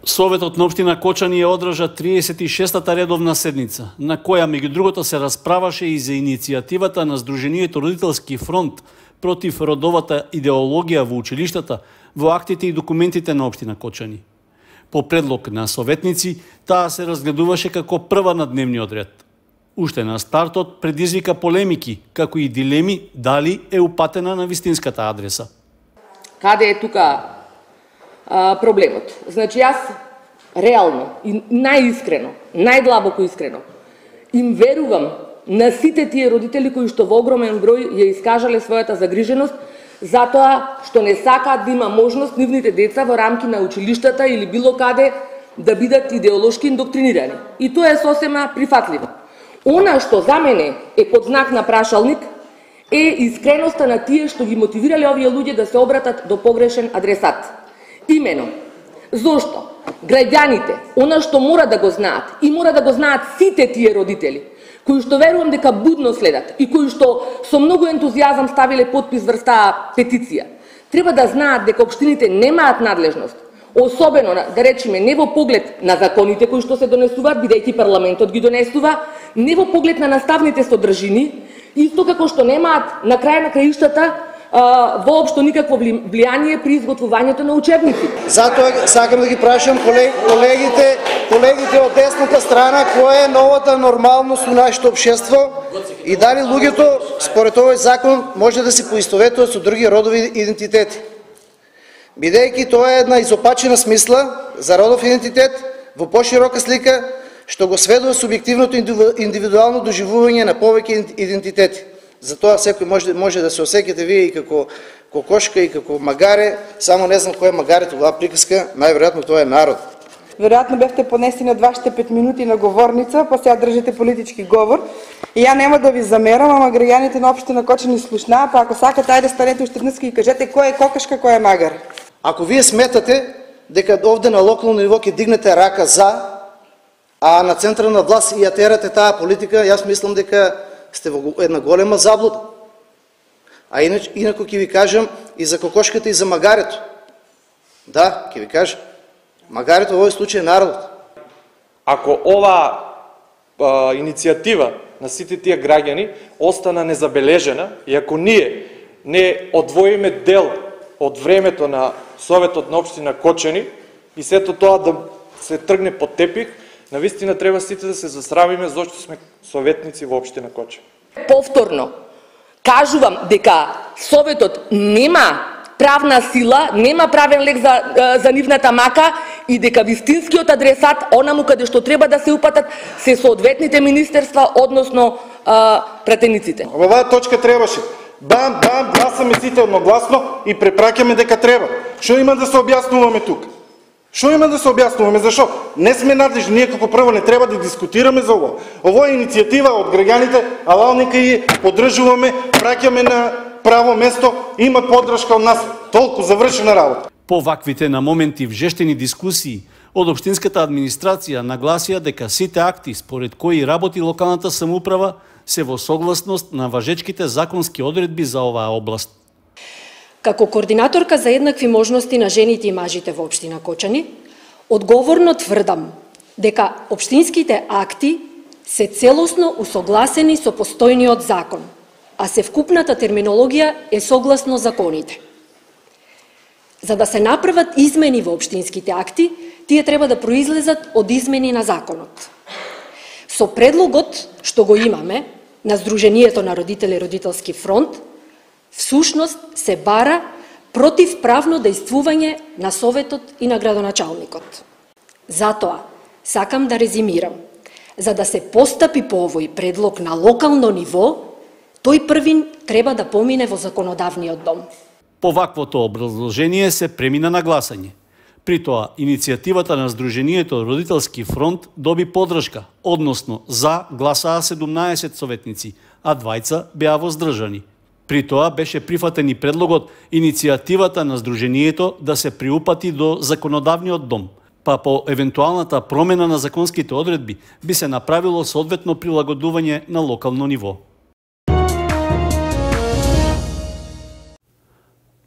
Советот на општина Кочани ја одржа 36-та редовна седница, на која меѓу другото се расправаше и за иницијативата на Сдруженијето Родителски фронт против родовата идеологија во училиштата, во актите и документите на општина Кочани. По предлог на советници, таа се разгледуваше како прва на дневниот ред. Уште на стартот предизвика полемики, како и дилеми дали е упатена на вистинската адреса. Каде е тука проблемот? Значи, јас реално и најискрено, најдлабоко искрено, им верувам на сите тие родители кои што во огромен број ја искажале својата загриженост затоа што не сакаат да има можност нивните деца во рамки на училиштата или било каде да бидат идеолошки индоктринирани. И тоа е сосема прифатливо. Она што за мене е под знак на прашалник е искреноста на тие што ги мотивирале овие луѓе да се обратат до погрешен адресат. Имено, зошто? Граѓаните, она што мора да го знаат и мора да го знаат сите тие родители, кои што верувам дека будно следат и кои што со многу ентузијазам ставиле подпис врз таа петиција, треба да знаат дека општините немаат надлежност, особено, да речеме, не во поглед на законите кои што се донесуваат, бидејќи парламентот ги донесува, не во поглед на наставните содржини, исто како што немаат на крај на краиштата воопшто никакво влијание при изготвувањето на учебници. Затоа сакам да ги прашам колегите од десната страна која е новата нормалност у нашето општество и дали луѓето според овој закон може да се поистоветуваат со други родови идентитети. Бидејќи тоа е една изопачена смисла за родов идентитет во поширока слика што го сведува субјективното индивидуално доживување на повеќе идентитети. Затоа секој може да се осеќате вие и како кокошка и како магаре, само не знам кој е магарето во оваа приказка, најверојатно тоа е народ. Веројатно бевте понесени од вашите 5 минути на говорница, па сега држите политички говор. И ја нема да ви замерам, ама граѓаните на општина Кочани слушнаа, па ако сакате, ајде станете уште днеска и кажете кој е кокошка, кој е магар. Ако вие сметате дека овде на локално ниво ќе дигнете рака за, а на централна власт и ја терате таа политика, јас мислам дека сте во една голема заблуда. А инако ќе ви кажам и за кокошката и за магарето. Да, ќе ви кажам. Магарето во овој случај е народот. Ако ова иницијатива на сите тие граѓани остана незабележена и ако ние не одвоиме дел од времето на Советот на општина Кочани и сето тоа да се тргне под тепих, навистина треба сите да се засрамиме зашто сме советници во општина Кочани. Повторно, кажувам дека Советот нема правна сила, нема правен лек за нивната мака и дека вистинскиот адресат, онаму каде што треба да се упатат, се соодветните министерства, односно пратениците. Во оваа точка требаше бам, гласаме сите едногласно и препраќаме дека треба. Што има да се објаснуваме тука? Што има да се објаснуваме? Зашо? Не сме надлежни, ние како прво не треба да дискутираме за ово. Ово е иницијатива од граѓаните, ала нека и поддржуваме, праќаме на право место, има поддршка од нас. Толку завршена работа. По ваквите на моменти вжештени дискусии, од општинската администрација нагласија дека сите акти според кои работи локалната самоуправа се во согласност на важечките законски одредби за оваа област. Како координаторка за еднакви можности на жените и мажите во општина Кочани, одговорно тврдам дека општинските акти се целосно усогласени со постојниот закон, а севкупната терминологија е согласно законите. За да се направат измени во општинските акти, тие треба да произлезат од измени на законот. Со предлогот што го имаме на Сдруженијето на родители и Родителски фронт, всушност се бара противправно дејствување на Советот и на градоначалникот. Затоа, сакам да резимирам, за да се постапи по овој предлог на локално ниво, тој првин треба да помине во законодавниот дом. По ваквото образложение се премина на гласање. При тоа, иницијативата на Сдруженијето Родителски фронт доби поддршка, односно за гласаа 17 советници, а 2 беа воздржани. При тоа беше прифатен и предлогот иницијативата на Сдруженијето да се приупати до законодавниот дом, па по евентуалната промена на законските одредби би се направило соодветно прилагодување на локално ниво.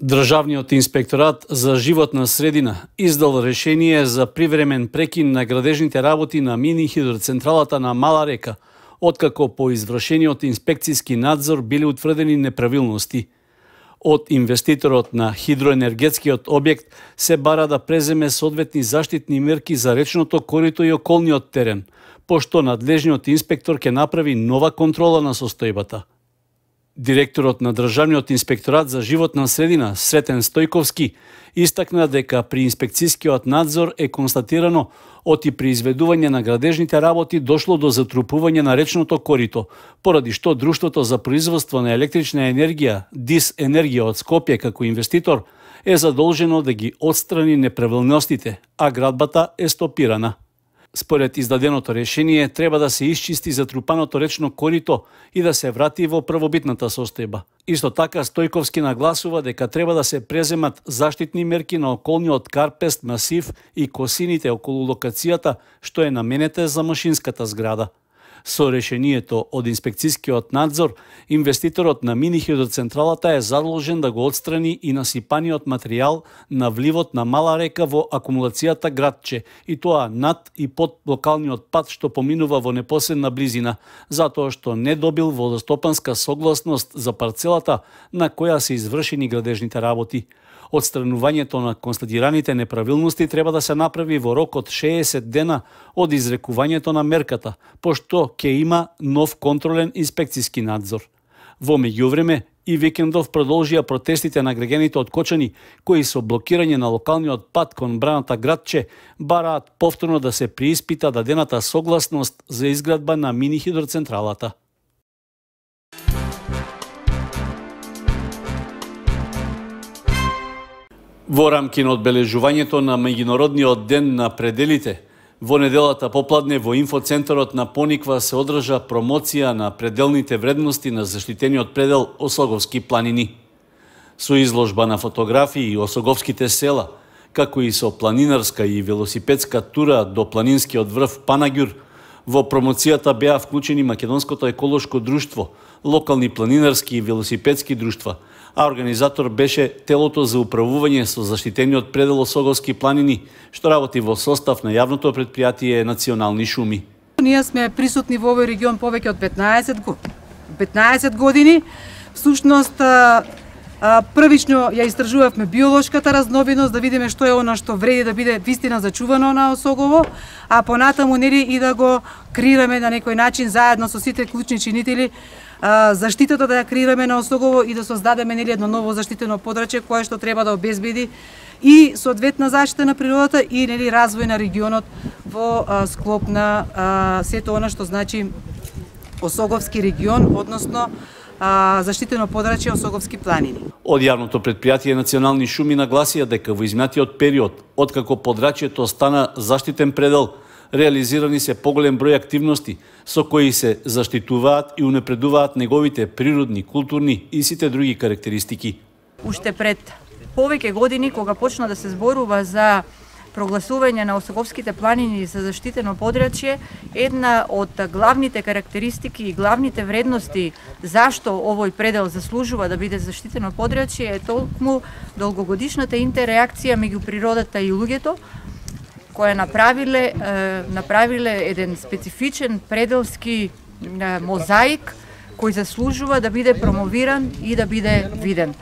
Државниот инспекторат за животна средина издал решение за привремен прекин на градежните работи на мини хидроцентралата на Мала река, откако по извршениот инспекцијски надзор биле утврдени неправилности. Од инвеститорот на хидроенергетскиот објект се бара да преземе соодветни заштитни мерки за речното корито и околниот терен, пошто надлежниот инспектор ќе направи нова контрола на состојбата. Директорот на Државниот инспекторат за животна средина Сретен Стојковски истакна дека при инспекцијскиот надзор е констатирано оти при изведување на градежните работи дошло до затрупување на речното корито, поради што Друштвото за производство на електрична енергија ДИС Енергија од Скопје како инвеститор е задолжено да ги отстрани неправилностите, а градбата е стопирана. Според издаденото решение треба да се исчисти затрупаното речно корито и да се врати во првобитната состојба. Исто така Стојковски нагласува дека треба да се преземат заштитни мерки на околниот карпест масив и косините околу локацијата што е наменета за машинската зграда. Со решението од инспекцијскиот надзор, инвеститорот на мини хидроцентралата е задолжен да го отстрани и насипаниот материјал на вливот на Мала река во акумулацијата Градче, и тоа над и под локалниот пат што поминува во непосредна близина, затоа што не добил водостопанска согласност за парцелата на која се извршени градежните работи. Отстранувањето на констатираните неправилности треба да се направи во рок од 60 дена од изрекувањето на мерката, пошто ќе има нов контролен инспекцијски надзор. Во меѓувреме, и викендов продолжија протестите на граѓаните од Кочани, кои со блокирање на локалниот пат кон браната Градче бараат повторно да се прииспита дадената согласност за изградба на мини хидроцентралата. Во рамки на одбележувањето на меѓународниот ден на пределите, во неделата попладне во инфоцентарот на Пониква се одржа промоција на пределните вредности на заштитениот предел Осоговски планини. Со изложба на фотографии Осоговските села, како и со планинарска и велосипедска тура до планинскиот врв Панаѓур, во промоцијата беа вклучени Македонското еколошко друштво, локални планинарски и велосипедски друштва, а организатор беше телото за управување со заштитениот предел Осоговски планини, што работи во состав на јавното претпријатие Национални шуми. Ние сме присутни во овој регион повеќе од 15 години. Всушност, првично ја истражувавме биолошката разновидност, да видиме што е она што вреди да биде вистина зачувано на Осогово, а понатаму нели и да го креираме на некој начин заедно со сите клучни чинители заштитата да ја креираме на Осогово и да создадеме нели едно ново заштитено подрачје кое што треба да обезбеди и соодветна заштита на природата и нели развој на регионот во склоп на сето она што значи Осоговски регион, односно заштитено подрачје Осоговски планини. Од јавното претпријатие Национални шуми нагласија дека во изминатиот период, откако подрачјето стана заштитен предел, реализирани се поголем број активности со кои се заштитуваат и унапредуваат неговите природни, културни и сите други карактеристики. Уште пред повеќе години, кога почна да се зборува за прогласување на Осоговските планини за заштитено подрачје, една од главните карактеристики и главните вредности зашто овој предел заслужува да биде заштитено подрачје е толкму долгогодишната интерреакција меѓу природата и луѓето, која направиле еден специфичен пределски мозаик кој заслужува да биде промовиран и да биде виден.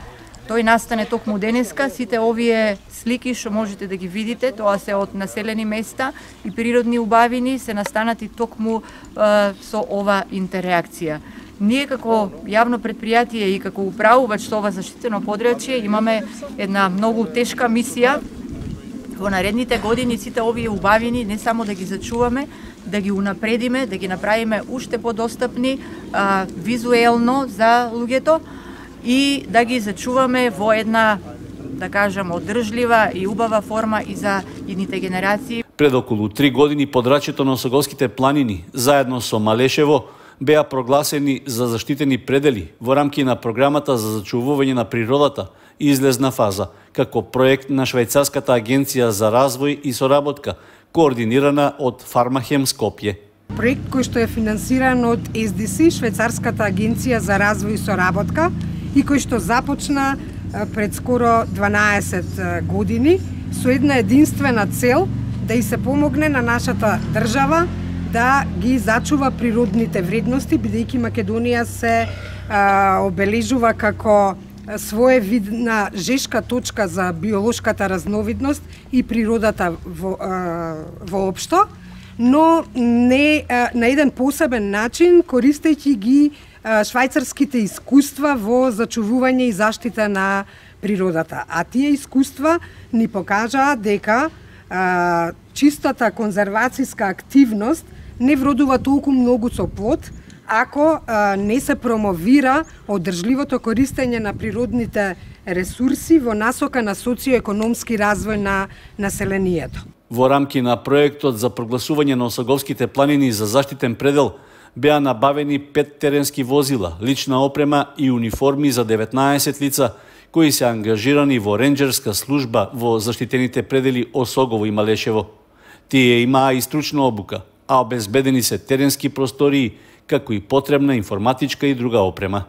Тој настане токму денеска, сите овие слики што можете да ги видите, тоа се од населени места и природни убавини се настанати токму со ова интерреакција. Ние како јавно претпријатие и како управувач со ова заштитено подрачје имаме една многу тешка мисија во наредните години сите овие убавини не само да ги зачуваме, да ги унапредиме, да ги направиме уште подостапни визуелно за луѓето и да ги зачуваме во една, да кажам, одржлива и убава форма и за идните генерации. Пред околу 3 години подрачјето на Осоговските планини, заедно со Малешево, беа прогласени за заштитени предели во рамки на програмата за зачувување на природата и излезна фаза, како проект на Швајцарската агенција за развој и соработка, координирана од Фармахем Скопје. Проект кој што е финансиран од SDC, Швајцарската агенција за развој и соработка, и кој што започна пред скоро 12 години со една единствена цел да и се помогне на нашата држава да ги зачува природните вредности, бидејќи Македонија се обележува како своевидна жешка точка за биолошката разновидност и природата воопшто, но не на еден посебен начин, користејќи ги швајцарските искуства во зачувување и заштита на природата. А тие искуства ни покажаа дека чистата конзервацијска активност не вродува толку многу со плод, ако не се промовира одржливото користење на природните ресурси во насока на социоекономски развој на населението. Во рамки на проектот за прогласување на Осоговските планини за заштитен предел беа набавени 5 теренски возила, лична опрема и униформи за 19 лица кои се ангажирани во ренџерска служба во заштитените предели Осогово и Малешево. Тие имаа и стручна обука, а обезбедени се теренски простории, како и потребна информатичка и друга опрема.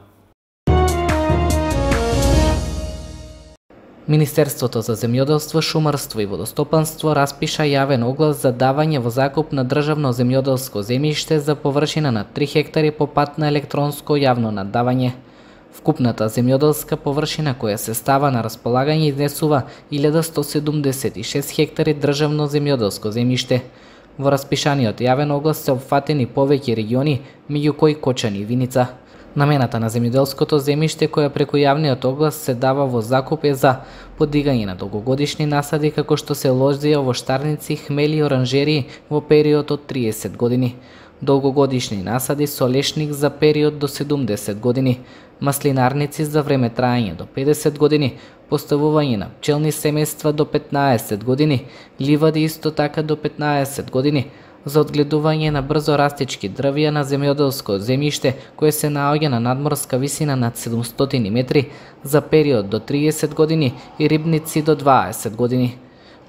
Министерството за земјоделство, шумарство и водостопанство распиша јавен оглас за давање во закуп на државно земјоделско земјиште за површина на 3 хектари по пат на електронско јавно наддавање. Вкупната земјоделска површина која се става на располагање изнесува 1176 хектари државно земјоделско земјиште. Во распишаниот јавен оглас се опфатени повеќе региони, меѓу кои Кочани и Виница. Намената на земјоделското земјиште која преку јавниот оглас се дава во закуп е за подигање на долгогодишни насади како што се лозија, овоштарници, хмели и оранжерии во период од 30 години, долгогодишни насади со лешник за период до 70 години, маслинарници за време траење до 50 години, поставување на пчелни семејства до 15 години, ливади исто така до 15 години, за одгледување на брзо растички дрвја на земјоделско земјиште кое се наоѓа на надморска висина над 700 метри за период до 30 години и рибници до 20 години.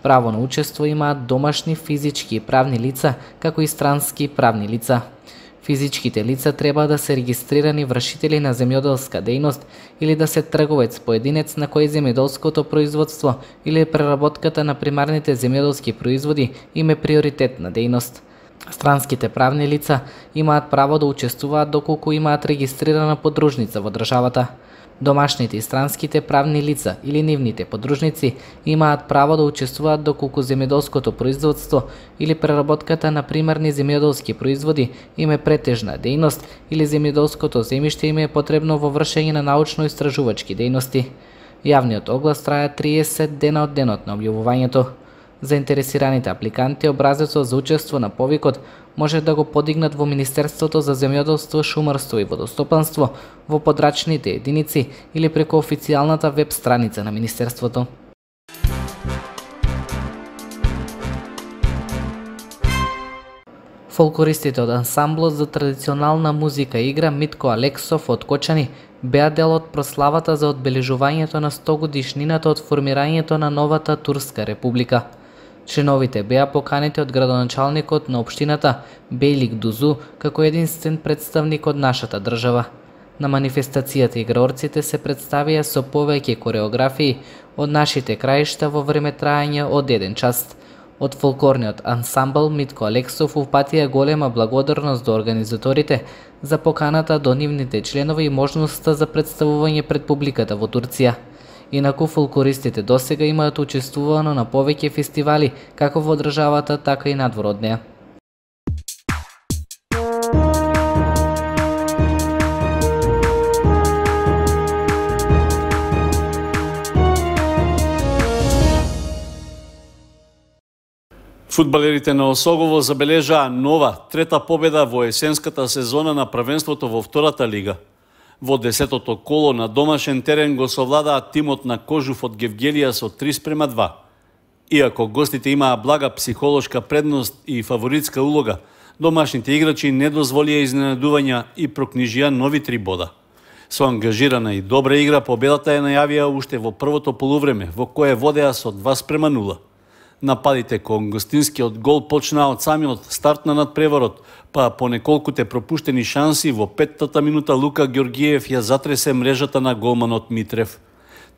Право на учество имаат домашни физички и правни лица, како и странски правни лица. Физичките лица треба да се регистрирани вршители на земјоделска дејност или да се трговец поединец на кој земјоделското производство или преработката на примарните земјоделски производи им е приоритетна дејност. Странските правни лица имаат право да учествуваат доколку имаат регистрирана подружница во државата. Домашните и странските правни лица или нивните подружници имаат право да учествуваат доколку земјоделското производство или преработката на примарни земјоделски производи им е претежна дејност или земјоделското земјиште им е потребно во вршење на научно-истражувачки дејности. Јавниот оглас трае 30 дена од денот на објавувањето. Заинтересираните апликанти образецот за учество на повикот може да го подигнат во Министерството за земјоделство, шумарство и водостопанство во подрачните единици или преку официјалната веб страница на Министерството. Фолклористите од ансамблот за традиционална музика и игра Митко Алексов од Кочани беа дел од прославата за одбележувањето на 100 годишнината од формирањето на новата Турска република. Членовите беа поканети од градоначалникот на општината Бејлик Дузу како единствен представник од нашата држава. На манифестацијата играорците се представија со повеќе кореографии од нашите краишта во време траење од 1 час. Од фолклорниот ансамбл Митко Алексов упатија голема благодарност до организаторите за поканата до нивните членови и можноста за представување пред публиката во Турција. Инаку фолклористите досега имаат учествувано на повеќе фестивали како во државата, така и надвор од неа. Фудбалерите на Осогово забележаа нова, трета победа во есенската сезона на првенството во втората лига. Во 10-тото коло на домашен терен го совладаа тимот на Кожув од Гевгелија со 3:2. Иако гостите имаа блага психолошка предност и фаворитска улога, домашните играчи не дозволија изненадувања и прокнижија нови 3 бода. Со ангажирана и добра игра победата ја најавија уште во првото полувреме, во кое водеа со 2:0. Нападите кон гостинскиот гол почнаа од самиот старт на надпреварот, па по неколкуте пропуштени шанси во 5-та минута Лука Ѓоргиев ја затресе мрежата на голманот Митрев.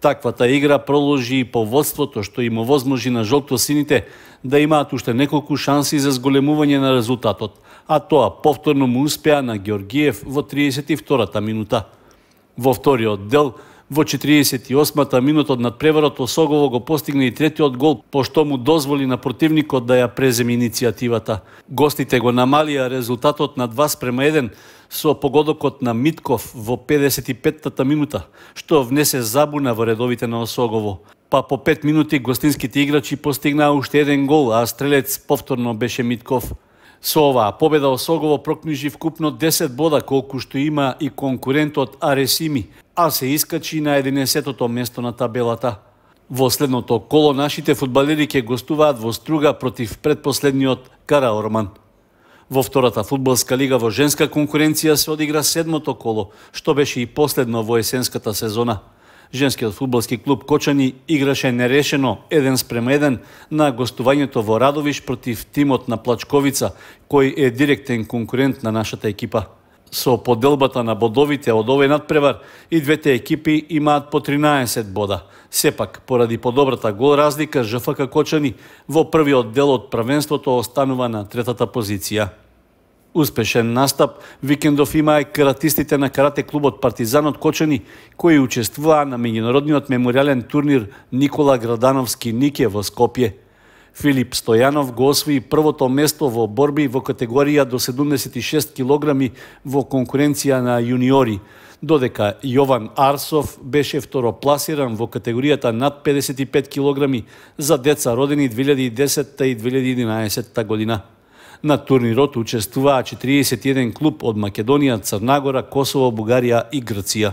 Таквата игра проложи и по водството, што им овозможи на жолтосините да имаат уште неколку шанси за зголемување на резултатот, а тоа повторно му успеа на Георгиев во 32-та минута. Во вториот дел, во 48-та минута од надпреварот, Осогово го постигна и третиот гол, пошто му дозволи на противникот да ја преземе иницијативата. Гостите го намалија резултатот на 2:1 со погодокот на Митков во 55-та минута, што внесе забуна во редовите на Осогово. Па по 5 минути гостинските играчи постигнаа уште еден гол, а стрелец повторно беше Митков. Со оваа победа Осогово прокнижи вкупно 10 бода, колку што има и конкурентот Аресими, а се искачи на 11-тото место на табелата. Во следното коло нашите фудбалери ќе гостуваат во Струга против предпоследниот Караорман. Во втората фудбалска лига во женска конкуренција се одигра 7-то коло, што беше и последно во есенската сезона. Женскиот фудбалски клуб Кочани играше нерешено 1:1 на гостувањето во Радовиш против тимот на Плачковица, кој е директен конкурент на нашата екипа. Со поделбата на бодовите од овој надпревар и двете екипи имаат по 13 бода. Сепак, поради подобрата гол разлика, ЖФК Кочани во првиот дел од првенството останува на третата позиција. Успешен настап викендов имаа и каратистите на карате клубот Партизан од Кочани, кои учествуваа на меѓународниот меморијален турнир Никола Градановски Нике во Скопје. Филип Стојанов го освои првото место во борби во категорија до 76 килограми во конкуренција на јуниори, додека Јован Арсов беше второпласиран во категоријата над 55 килограми за деца родени 2010 и 2011 година. На турнирот учествуваа 41 клуб од Македонија, Црна Гора, Косово, Бугарија и Грција.